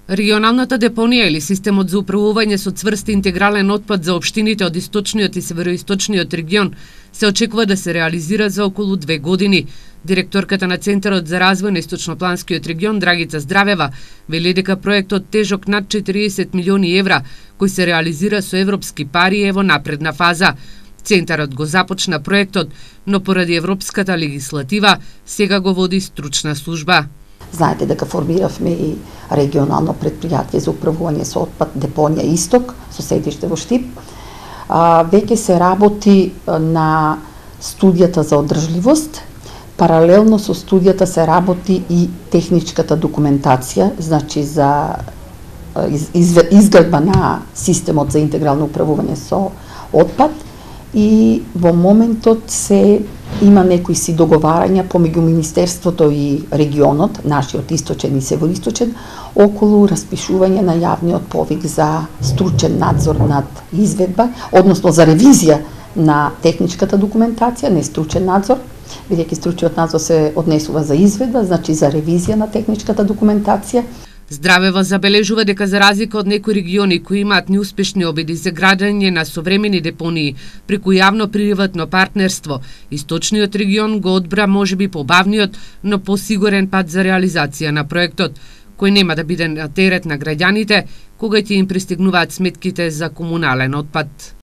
Регионалната депонија или системот за управување со цврст и интегрален отпад за општините од источниот и североисточниот регион се очекува да се реализира за околу 2 години. Директорката на Центарот за развој на Источнопланскиот регион Драгица Здравева вели дека проектот тежок над 40 милиони евра, кој се реализира со европски пари е во напредна фаза. Центарот го започна проектот, но поради европската легислатива сега го води стручна служба. Знаете дека формиравме и регионално предпријатие за управување со отпад депонија Исток со седиште во Штип. Веќе се работи на студијата за одржливост. Паралелно со студијата се работи и техничката документација, значи за изградба на системот за интегрално управување со отпад. И во моментот се има некои си договарања помеѓу Министерството и регионот, нашиот источен и североисточен, околу распишување на јавниот повик за стручен надзор над изведба, односно за ревизија на техничката документација, не стручен надзор, бидејќи стручниот надзор се однесува за изведба, значи за ревизија на техничката документација. Здравева забележува дека за разлика од некои региони кои имаат неуспешни обиди за градење на современи депонии преку јавно-приватно партнерство, источниот регион го одбра можеби побавниот, но посигурен пат за реализација на проектот, кој нема да биде на терет на граѓаните кога ќе им пристигнуваат сметките за комунален отпад.